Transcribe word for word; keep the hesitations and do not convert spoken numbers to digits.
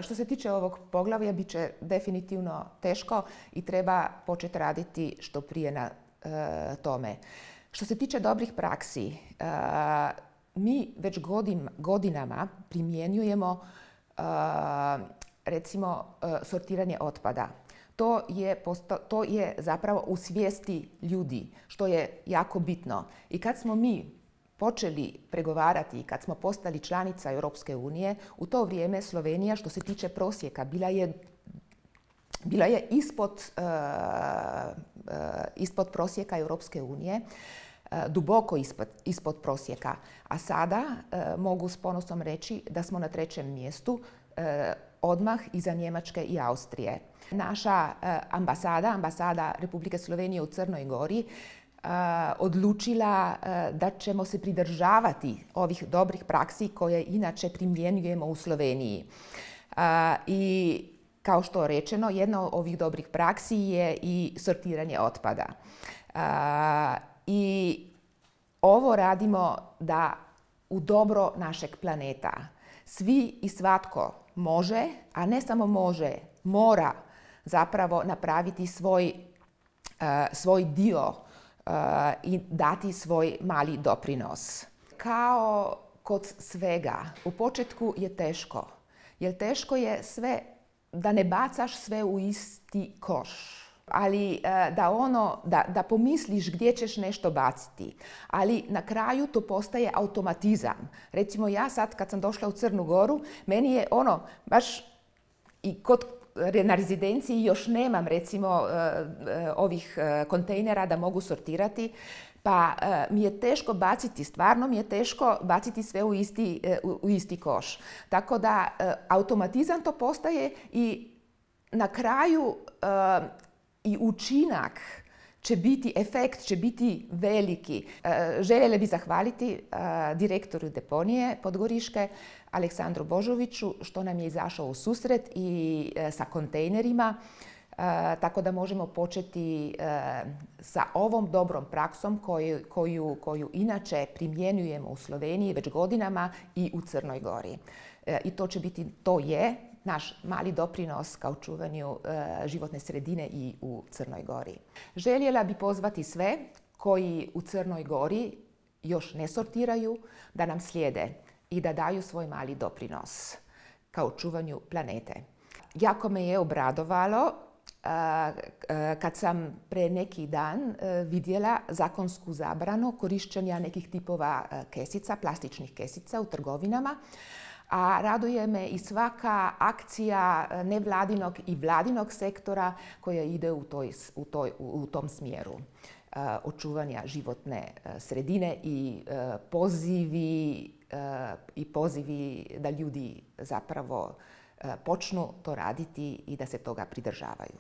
Što se tiče ovog poglavlja, bit će definitivno teško i treba početi raditi što prije na e, tome. Što se tiče dobrih praksi, e, mi već godin, godinama primjenjujemo e, recimo e, sortiranje otpada. To je, posto, to je zapravo u svijesti ljudi, što je jako bitno. I kad smo mi počeli pregovarati, kad smo postali članica Europske unije, u to vrijeme Slovenija, što se tiče prosjeka, bila je, bila je ispod, uh, uh, ispod prosjeka Europske unije, uh, duboko ispod, ispod prosjeka. A sada uh, mogu s ponosom reći da smo na trećem mjestu, uh, odmah iza Njemačke i Austrije. Naša uh, ambasada, ambasada Republike Slovenije u Crnoj Gori, Uh, odlučila uh, da ćemo se pridržavati ovih dobrih praksi koje inače primjenjujemo u Sloveniji. Uh, I kao što je rečeno, jedna od ovih dobrih praksi je i sortiranje otpada. Uh, I ovo radimo da u dobro našeg planeta svi i svatko može, a ne samo može, mora zapravo napraviti svoj, uh, svoj dio Uh, i dati svoj mali doprinos. Kao kod svega, u početku je teško. Jer teško je sve, da ne bacaš sve u isti koš. Ali uh, da, ono, da, da pomisliš gdje ćeš nešto baciti. Ali na kraju to postaje automatizam. Recimo ja sad kad sam došla u Crnu Goru, meni je ono baš i kod na rezidenciji još nemam recimo ovih kontejnera da mogu sortirati, pa mi je teško baciti, stvarno mi je teško baciti sve u isti, u isti koš. Tako da automatizam to postaje i na kraju i učinak će biti, efekt će biti veliki. Željela bih zahvaliti direktoru deponije Podgoriške, Aleksandru Božoviću, što nam je izašao u susret i sa kontejnerima, tako da možemo početi sa ovom dobrom praksom koju, koju, koju inače primjenjujemo u Sloveniji već godinama i u Crnoj Gori. I to će biti, to je naš mali doprinos ka očuvanju e, životne sredine i u Crnoj Gori. Željela bi pozvati sve koji u Crnoj Gori još ne sortiraju da nam slijede i da daju svoj mali doprinos ka očuvanju planete. Jako me je obradovalo a, a, kad sam pre neki dan a, vidjela zakonsku zabranu korištenja nekih tipova a, kesica, plastičnih kesica u trgovinama. A raduje me i svaka akcija nevladinog i vladinog sektora koja ide u, toj, u, toj, u tom smjeru uh, očuvanja životne uh, sredine i uh, pozivi, uh, i pozivi da ljudi zapravo uh, počnu to raditi i da se toga pridržavaju.